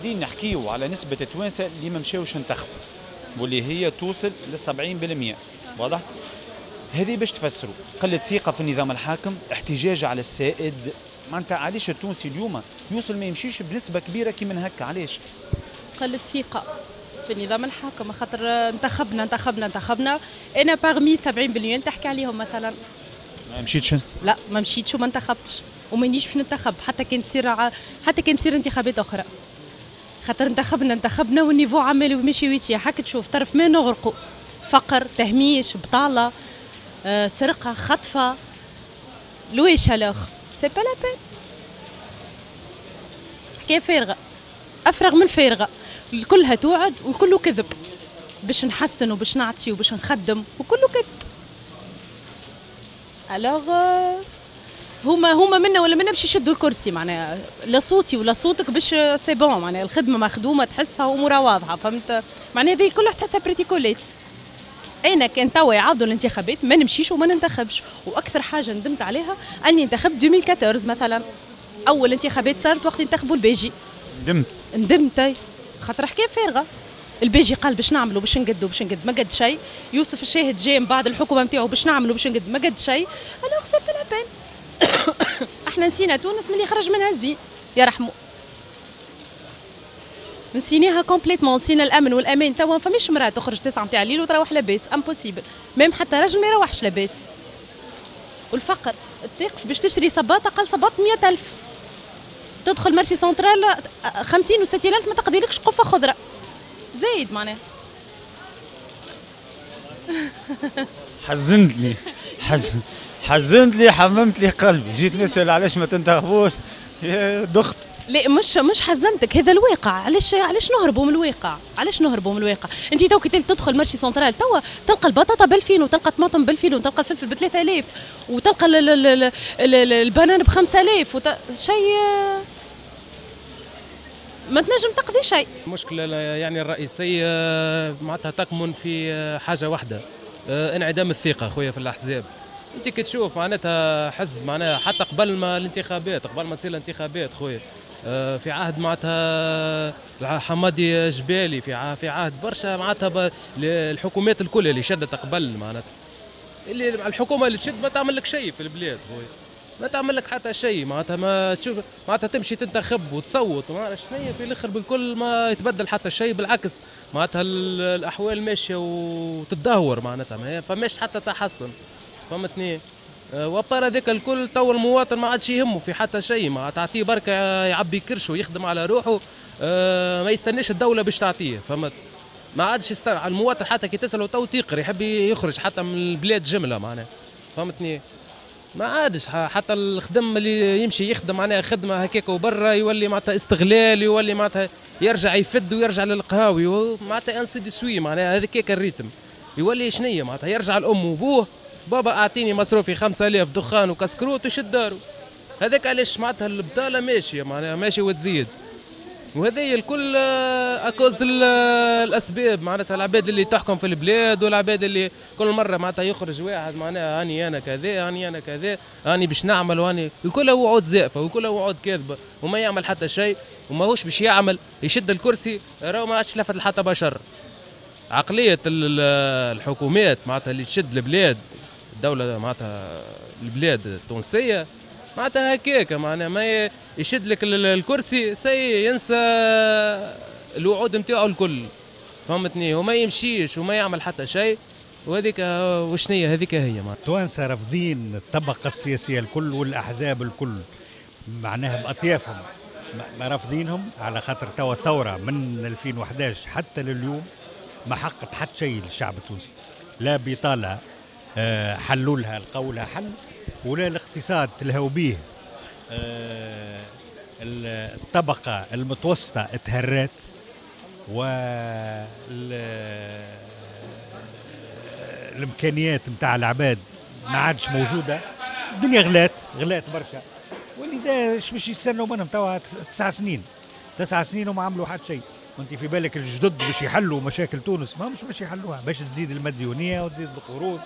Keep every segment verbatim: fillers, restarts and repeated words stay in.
قاعدين نحكيو على نسبه التوانسة اللي ما مشاوش انتخبوا واللي هي توصل ل سبعين بالمئة، واضح؟ هذه باش تفسروا قلة ثقة في النظام الحاكم، احتجاج على السائد. معناتها علاش التونسي اليوم يوصل ما يمشيش بنسبة كبيرة كي من هكا؟ علاش؟ قلة ثقة في النظام الحاكم، خاطر انتخبنا انتخبنا انتخبنا، انا parmi سبعين بالمئة تحكي عليهم مثلا. ما مشيتش؟ لا ما مشيتش وما انتخبتش ومانيش باش ننتخب حتى كان تصير ع... حتى كان تصير انتخابات اخرى، خاطر انتخبنا انتخبنا وال niveau عمال وماشي ويتيح. هكا تشوف طرف ما نغرقوا، فقر، تهميش، بطاله، آه، سرقه، خطفه، لويش alors c'est pas la peine، حكاية فارغة، افرغ من فارغة، كلها توعد وكله كذب باش نحسن وباش نعطي وباش نخدم وكله كذب. alors هما هما منا ولا منا باش يشدوا الكرسي، معناها لا صوتي ولا صوتك باش c'est bon، معناها الخدمة مخدومة تحسها وامورها واضحة، فهمت؟ معناها هذه كلها تحسها بريتيكولات. انا كان توا يعاودوا الانتخابات ما نمشيش وما ننتخبش، واكثر حاجة ندمت عليها اني انتخبت ألفين وأربعطاش مثلا، اول انتخابات صارت وقت انتخبوا الباجي. ندمت؟ ندمت خاطر حكاية فارغة. الباجي قال باش نعملوا باش نقدوا باش نقد، ما قد شيء. يوسف الشاهد جاي من بعد الحكومة نتاعو باش نعملوا باش نقد، ما قد شيء. alors c'est pas la peine. احنا نسينا تونس من اللي خرج منها الزين يرحمه، نسيناها complètement، نسينا الامن والامان. توا ما فماش مراة تخرج تسعة نتاع الليل وتروح لاباس، impossible، même حتى راجل ما يروحش لاباس. والفقر، تقف باش تشري صباط اقل صباط مئة ألف، تدخل marché central خمسين وستين ألف ما تقضيلكش قفة خضرة زايد معناها. حزنتني حزن حزنت لي، حممت لي قلبي. جيت نسأل علاش ما تنتخبوش دخت. لا مش مش حزنتك، هذا الواقع. علاش علاش نهربوا من الواقع؟ علاش نهربوا من الواقع؟ انت تو كي تدخل marché central توا تلقى البطاطا ب ألفين وتلقى الطماطم ب ألفين وتلقى الفلفل ب ثلاثة آلاف وتلقى البنان ب خمسة آلاف وت... شيء ما تنجم تقضي شيء. المشكلة يعني الرئيسية معناتها تكمن في حاجة واحدة، انعدام الثقة خويا في الأحزاب. انت كي تشوف معناتها حزب معناها حتى قبل ما الانتخابات، قبل ما تصير الانتخابات خويا، في عهد معناتها حمادي جبالي، في في عهد برشا معناتها الحكومات الكل اللي شدت قبل معناتها، اللي الحكومة اللي تشد ما تعمل لك شيء في البلاد خويا، ما تعمل لك حتى شيء معناتها، ما تشوف معناتها تمشي تنتخب وتصوت وما شنو في الاخر بالكل ما يتبدل حتى شيء، بالعكس معناتها الاحوال ماشية وتتدهور معناتها، ما فماش حتى تحسن، فهمتني؟ و à part هذاك الكل تو المواطن ما عادش يهمه في حتى شيء، ما تعطيه بركة يعبي كرشه ويخدم على روحه، ما يستناش الدولة باش تعطيه، فهمت؟ ما عادش يست... المواطن حتى كي تساله تو تيقر يحب يخرج حتى من البلاد جملة معناها، فهمتني؟ ما عادش حتى الخدم اللي يمشي يخدم معناها خدمة هكاك وبرا يولي معناتها استغلال، يولي معناتها يرجع يفد ويرجع للقهاوي معناتها ainsi de suite معناها هذاك ال rythme يولي شنية معناتها يرجع لامه وبوه، بابا اعطيني مصروفي خمسة آلاف دخان وكسكروت وشد دارو. هذاك علاش معناتها البطالة ماشية معناها ماشية وتزيد، وهذه الكل à cause الاسباب معناتها العباد اللي تحكم في البلاد والعباد اللي كل مرة معناتها يخرج واحد معناها هاني انا كذا هاني انا كذا هاني باش نعمل وهاني، الكل وعود زائفة وكل وعود كاذبة وما يعمل حتى شيء وماهوش باش يعمل، يشد الكرسي راهو ما عادش لفت لحتى بشر. عقلية الحكومات معناتها اللي تشد البلاد، الدولة معناتها البلاد التونسية معناتها هكاك معناها ما يشد لك الكرسي سي ينسى الوعود نتاعو الكل، فهمتني؟ وما يمشيش وما يعمل حتى شيء، وهذيك وشنية هذيك هي معناتها. التوانسة رافضين الطبقة السياسية الكل والأحزاب الكل معناها بأطيافهم، ما رافضينهم على خاطر توا ثورة من ألفين وأحد عشر حتى لليوم ما حققت حتى شيء للشعب التونسي، لا بطالة حلوا لها لقوا لها حل، ولا الاقتصاد تلهوا به، الطبقة المتوسطة اتهرت، و الإمكانيات نتاع العباد ما عادش موجودة، الدنيا غلات غلات برشا، ولذا اش باش يستنوا منهم توا تسع سنين، تسع سنين وما عملوا حتى شيء. وانت في بالك الجدد باش يحلوا مشاكل تونس، ما مش باش يحلوها، باش تزيد المديونيه وتزيد القروض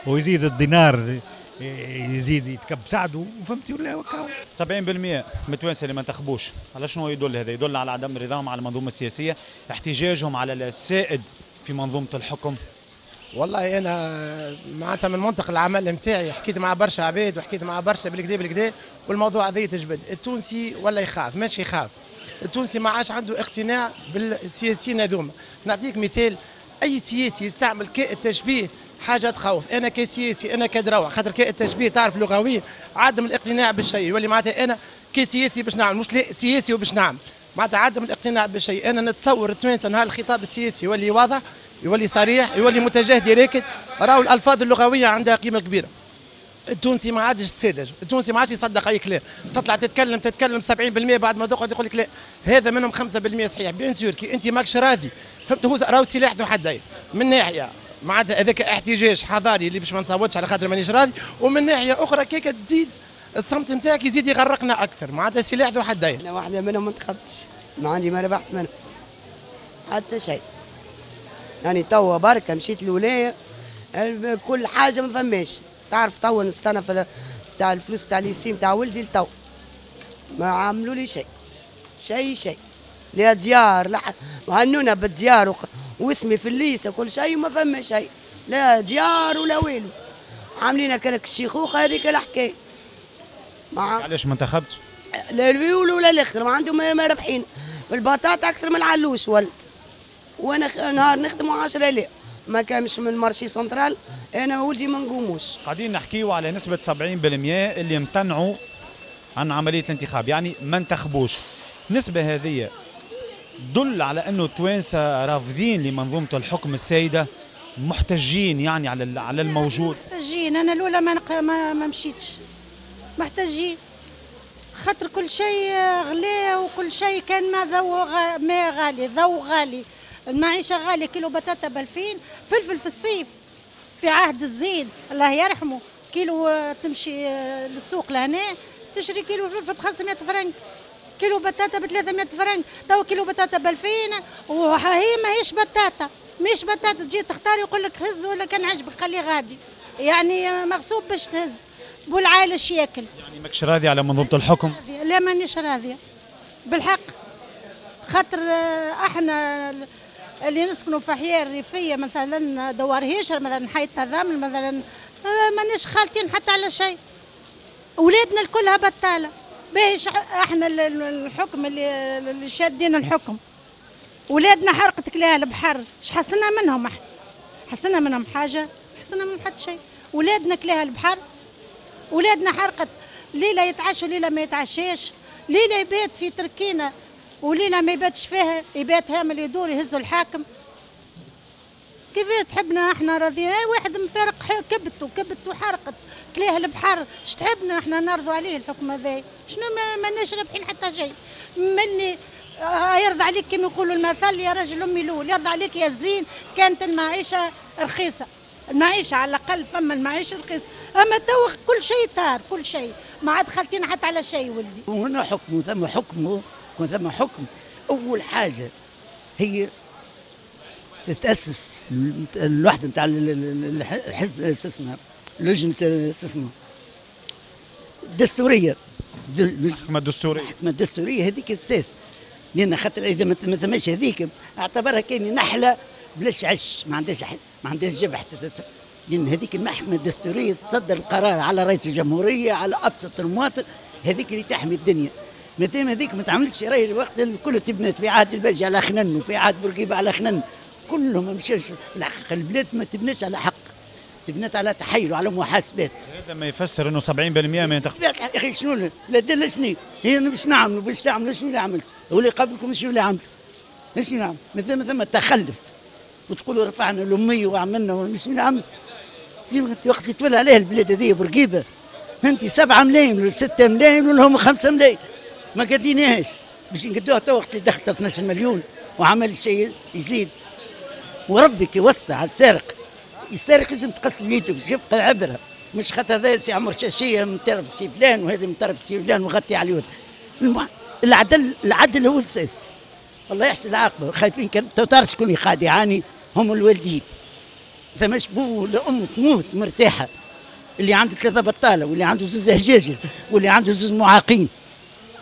ويزيد الدينار يزيد يتكب سعدة، وفهمتي ولا وكاو. سبعين بالمئة من التوانسة اللي ما انتخبوش، على شنو يدل هذا؟ يدل على عدم رضاهم على المنظومة السياسية، احتجاجهم على السائد في منظومة الحكم. والله انا معناتها من منطق العمل نتاعي حكيت مع برشا عباد وحكيت مع برشا بالكدا بالكدا، والموضوع هذا يتجبد. التونسي ولا يخاف، ماشي يخاف. التونسي ما عادش عنده اقتناع بالسياسيين هذوما. نعطيك مثال، اي سياسي يستعمل كاء التشبيه حاجة تخوف. انا كسياسي انا كدروع، خاطر كاء التشبيه تعرف لغويا عدم الاقتناع بالشيء، يولي معناتها انا كسياسي باش نعمل، مش لا سياسي وباش نعمل، معناتها عدم الاقتناع بالشيء. انا نتصور التوانسة نهار الخطاب السياسي يولي واضح، يولي صريح، يولي متجه direct، راهو الالفاظ اللغوية عندها قيمة كبيرة. التونسي ما عادش ساذج، التونسي ما عادش يصدق اي كلام، تطلع تتكلم تتكلم سبعين بالمئة بعد ما تقعد يقول لك لا، هذا منهم خمسة بالمئة صحيح. bien sûr كي انت ماكش راضي، فهمت؟ هو راهو سلاح ذو حدين، من ناحية معناتها هذاك احتجاج حضاري اللي باش ما نصوتش على خاطر مانيش راضي، ومن ناحية اخرى كيك تزيد الصمت نتاعك يزيد يغرقنا اكثر، معناتها سلاح ذو حدين. انا واحدة منهم ما انتخبتش، ما عندي ما ربحت منهم حتى شيء. يعني توا بركة مشيت الولاية كل حاجة ما فماش، تعرف توا نستنى في تاع الفلوس تاع ليسيم تاع ولدي لتو ما عملوا لي شيء شيء شيء، لا ديار لا وهنونا بالديار وق... واسمي في الليستة كل شيء وما فما شيء، لا ديار ولا والو، عاملين هكاك الشيخوخة هذيك الحكاية. ما علاش ما انتخبتش؟ لا اليول ولا الاخر ما عندهم ما رابحين، البطاطا اكثر من العلوش ولد، وانا نهار نخدم عشرة آلاف ما كانش من ال marché central، انا ولدي ما نقوموش. قاعدين نحكيو على نسبة سبعين بالمئة اللي امتنعوا عن عملية الانتخاب، يعني ما انتخبوش. النسبة هذه تدل على انه التوانسة رافضين لمنظومة الحكم السائدة، محتجين يعني على على الموجود. محتجين، انا الاولى ما نق... ما, ما مشيتش، محتجين خاطر كل شيء غلا وكل شيء كان ما ضو غ... ما غالي، ضو غالي، المعيشة غالية، كيلو بطاطا بألفين، فلفل في الصيف في عهد الزين الله يرحمه كيلو تمشي للسوق لهنا تشري كيلو فلفل ب خمسمية فرنك، كيلو بطاطا ب ثلاثمية فرنك، تو كيلو بطاطا ب ألفين، وهي ماهيش بطاطا، ماهيش بطاطا تجي تختار يقول لك هز ولا كان عجبك خليه غادي، يعني مغصوب باش تهز، بو العائلة ياكل. يعني ماكش راضي على منظومة الحكم؟ لا مانيش راضية بالحق، خاطر احنا اللي نسكنوا في احياء الريفية مثلا دوار هيشر مثلا حي التضامن مثلا مانيش خالطين حتى على شيء، اولادنا الكلها بطاله. باهي احنا الحكم اللي اللي شادين الحكم، اولادنا حرقت كلاها البحر، اش حسنا منهم احنا؟ حسنا منهم حاجة؟ حسنا منهم حتى شيء. اولادنا كلاها البحر، اولادنا حرقت، ليلة يتعشوا ليلة ما يتعشاش، ليلة يبات في تركينه وليلة ما يباتش فيها، يبات هامل يدور يهزوا الحاكم. كيفاش تحبنا احنا راضيين؟ واحد مفارق كبته كبته حرقت كلاه البحر، اش تحبنا احنا نرضوا عليه الحكم هذا؟ شنو ماناش رابحين حتى شيء. مني يرضى عليك كما يقولوا المثل يا رجل امي الاول، يرضى عليك يا الزين كانت المعيشة رخيصة، المعيشة على الاقل فما المعيشة رخيصة، اما تو كل شيء طار، كل شيء ما عاد خالتين حتى على شيء ولدي. وهنا حكم ثم حكم كون ثم حكم، اول حاجة هي تتاسس الوحدة نتاع الحزب اسمها لجنة اسمها الدستورية، المحكمة الدستورية، المحكمة الدستورية هذيك الساس، لان خاطر اذا ما ثماش هذيك اعتبرها كاين نحله بلاش عش، ما عندهاش ما عندهاش جبح، لان هذيك المحكمة الدستورية تصدر القرار على رئيس الجمهورية على ابسط المواطن، هذيك اللي تحمي الدنيا. مادام هذيك ما تعملش راهي الوقت الكل تبنت في عهد الباجي على خنن وفي عهد بورقيبة على خنن، كلهم ما مشاش. الحقيقة البلاد ما تبناش على حق، تبنت على تحايل وعلى محاسبات. هذا ما يفسر انه سبعين بالمئة ما ينتخب. يا اخي شنو لا دل شنو هي باش نعملوا باش تعملوا شنو اللي عملت واللي قبلكم شنو اللي عملوا شنو نعمل؟ مادام ثم تخلف وتقولوا رفعنا الامية وعملنا شنو اللي عملت؟ وقت تولى عليه البلاد هذه بورقيبة انت سبعة ملايين ولا ستة ملايين ولا هم خمسة ملايين ما قديناهاش باش نقدوها تو وقت اللي دخلت اثناش مليون وعمل شيء يزيد. وربك يوسع على السارق، السارق لازم تقص بيده باش يبقى عبره، مش خاطر هذا سي عمر شاشيه من طرف سي فلان وهذا من طرف سي فلان وغطي عليه. العدل العدل هو الاساس. الله يحسن العاقبة، خايفين كان تعرف شكون اللي قاعد يعاني هم الوالدين. ثماش بو ولا ام تموت مرتاحة، اللي عنده ثلاثة بطاله واللي عنده زوز هجاجل واللي عنده زوز معاقين.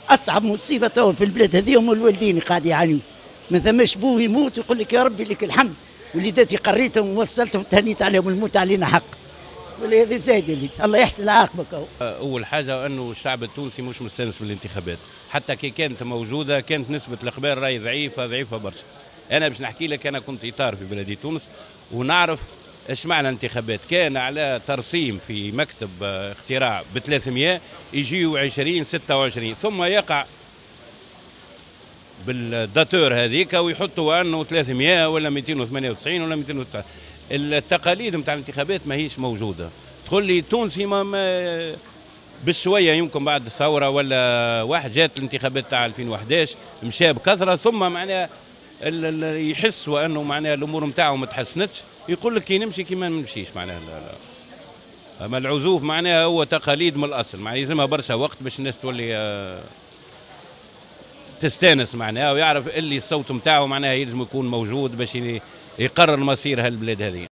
اصعب مصيبة تو في البلاد هذه هم الوالدين قاعد يعانيوا، ما ثماش بوه يموت ويقول لك يا ربي لك الحمد، وليداتي قريتهم ووصلتهم تهنيت عليهم، الموت علينا حق. ولا هذه زايدة اللي الله يحسن عاقبك. اول حاجة انه الشعب التونسي مش مستانس بالانتخابات، حتى كي كانت موجودة كانت نسبه الاقبال راهي ضعيفة ضعيفة برشا. انا باش نحكي لك، انا كنت اطار في بلديه تونس ونعرف ايش معنى انتخابات. كان على ترسيم في مكتب اختراع ب ثلاثمية يجيو عشرين ستة وعشرين، ثم يقع بال dateur هذيك ويحطوا انه ثلاثمية ولا مئتين وثمانية وتسعين ولا مئتين وتسعة. التقاليد نتاع الانتخابات ماهيش موجودة. تقول لي تونسي ما, ما بالشويه يمكن بعد الثورة ولا واحد جات الانتخابات تاع ألفين وأحد عشر مشى بكثرة، ثم معناها يحس وانه معناها الامور نتاعو ما تحسنتش، يقول لك كي نمشي كي ما نمشيش معناها. لا لا. اما العزوف معناها هو تقاليد من الاصل، معناها يلزمها برشا وقت باش الناس تولي تستانس معناها ويعرف اللي الصوت نتاعو معناها يلزم يكون موجود باش يقرر مصير هالبلاد هذه.